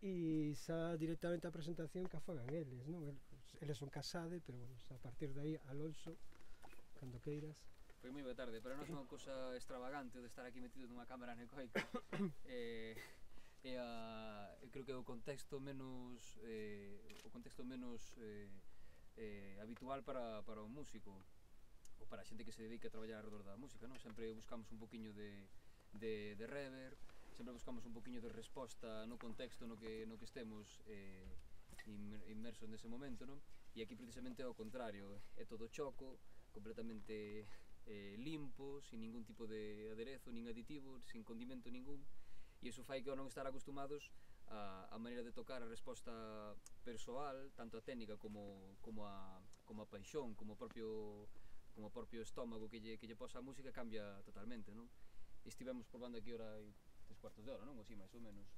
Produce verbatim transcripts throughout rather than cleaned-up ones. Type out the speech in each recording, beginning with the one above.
e xa directamente a presentación que a fagan eles, non? Eles son Casade, pero bueno, a partir de aí, Alonso, cando queiras. Foi moi boa tarde, para nós é unha cousa extravagante de estar aquí metido nunha cámara anecoica. eh, e a, creo que é o contexto menos eh, o contexto menos eh, eh, habitual para, para o músico ou para a xente que se dedica a traballar alrededor da música, non? Sempre buscamos un poquinho de, de, de reverb, sempre buscamos un poquinho de resposta no contexto no que, no que estemos eh, inmersos nese momento, non? E aquí precisamente é o contrario, é todo choco, completamente eh, limpo, sin ningún tipo de aderezo, nin aditivo, sin condimento ningún, e iso fai que ao non estar acostumados a, a maneira de tocar, a resposta persoal, tanto a técnica como, como, a, como a paixón, como o propio, como o propio estómago que lle, que lle posa a música cambia totalmente, non? Estivemos probando aquí ora hai tres cuartos de hora, non? Así, máis ou menos.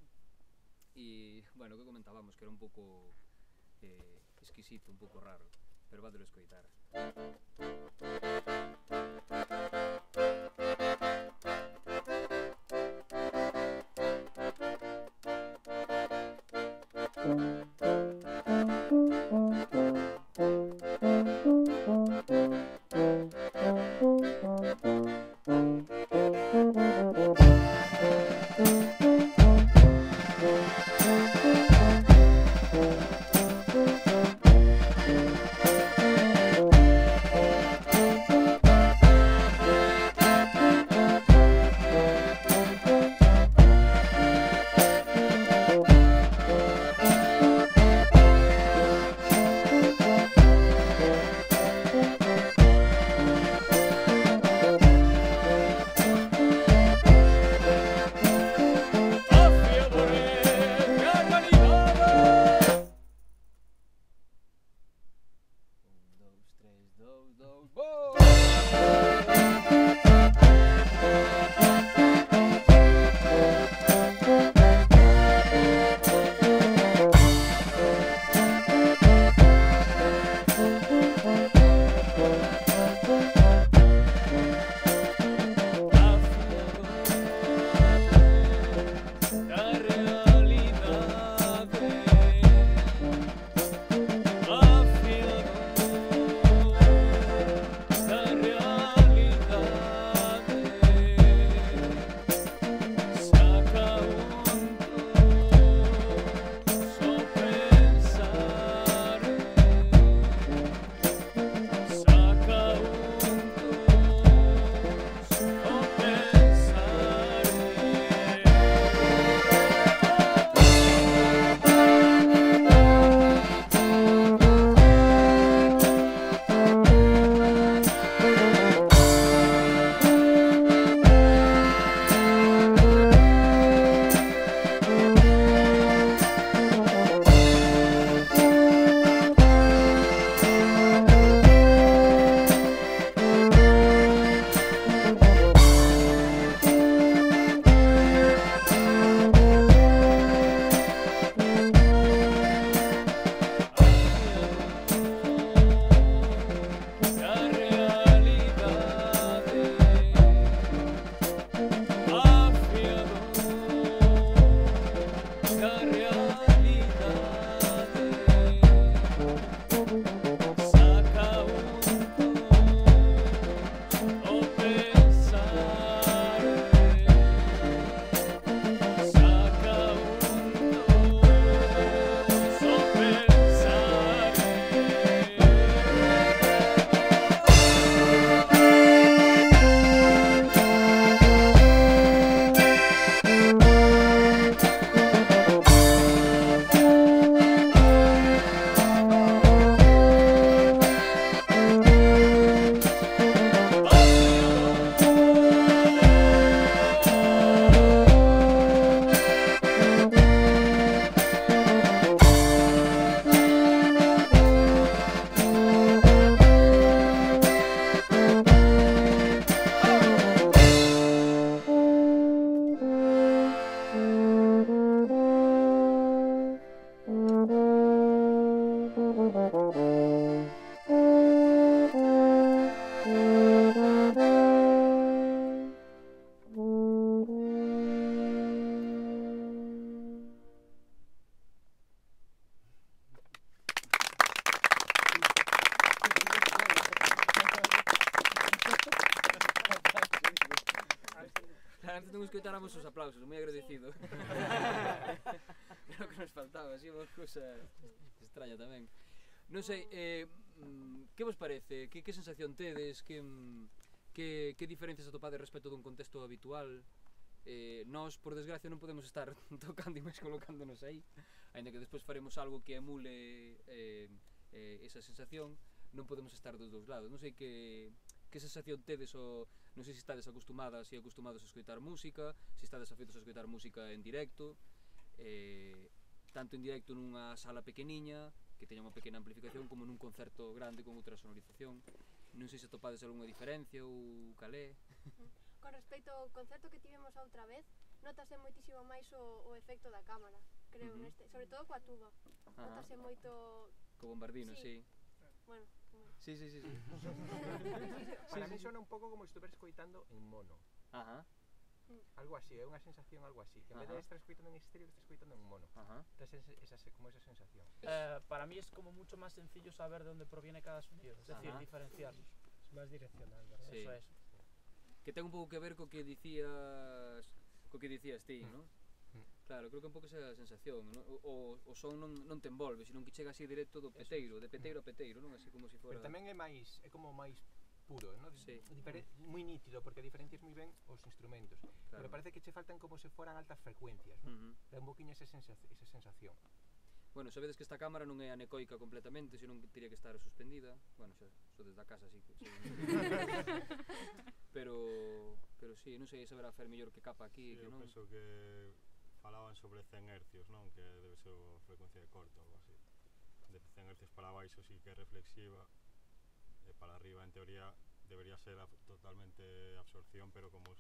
E, bueno, o que comentábamos, que era un pouco eh, exquisito, un pouco raro, pero vadelo escoitar. escoitáramos os aplausos, moi agradecido. Era o que nos faltaba, así unha cousa extraña tamén. Non sei, eh, que vos parece? Que, que sensación tedes? Que, que, que diferencias atopades respecto dun contexto habitual? Eh, nós, por desgracia, non podemos estar tocando e máis colocándonos aí, aínda que despois faremos algo que emule eh, eh, esa sensación, non podemos estar dos dous lados. Non sei que, que sensación tedes, o, non sei se estades acostumadas e acostumados a escoitar música, se estades afeitos a escoitar música en directo, eh, tanto en directo nunha sala pequeniña, que teña unha pequena amplificación, como nun concerto grande con outra sonorización. Non sei se atopades algunha diferencia ou calé. Con respecto ao concerto que tivemos a outra vez, notase moitísimo máis o, o efecto da cámara, creo, uh -huh. neste, sobre todo coa tuba. Ajá. Notase moito... Co bombardino, sí. sí. Bueno, como... Sí, sí, sí, sí. Para sí, mí sí. sona un pouco como se estuviera escoitando en mono. Ajá. Algo así, é unha sensación algo así, que en vez de estar escoitando en estéreo, estás escoitando en mono. Ajá. Esa, esa, como esa sensación. Eh, para mí es como mucho más sencillo saber de dónde proviene cada sonido, es decir, Ajá. diferenciarlos. Es máis direccional, verdad? Sí. Eso es. Que ten un pouco que ver co que dicías, co que dicías ti, mm. ¿no? Mm. Claro, creo que un pouco esa sensación, ¿no? O, o son non, non te envolve, senón que chega así directo do peteiro, de peteiro a peteiro, non? Así como se si fora... Pero tamén é máis, é como máis puro, ¿no? Sí. Moi nítido, porque diferencias moi ben os instrumentos, claro. Pero parece que che faltan como se foran altas frecuencias, ¿no? Uh -huh. Dá un poquinho esa, sensa esa sensación. Bueno, sabedes que esta cámara non é anecoica completamente, senón que teria que estar suspendida. Bueno, xa, so desde a casa, así que... pero, pero sí, non sei, saberá fer mellor que capa aquí, sí, que non. Eu penso que falaban sobre cen hercios, non? Que debe ser a frecuencia de corte ou algo así. De cen hercios para baixo sí que é reflexiva, e para arriba en teoría debería ser a, totalmente absorción, pero como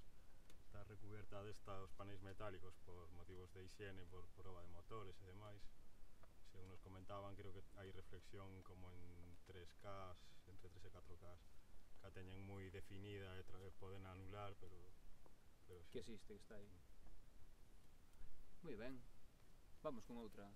está recubierta destos paneis metálicos por motivos de higiene, por proba de motores e demais, según nos comentaban, creo que hai reflexión como en tres K, entre tres e catro K, que a teñen moi definida e poden anular, pero, pero sí. Que existe, que está aí. Moi ben, vamos con outra.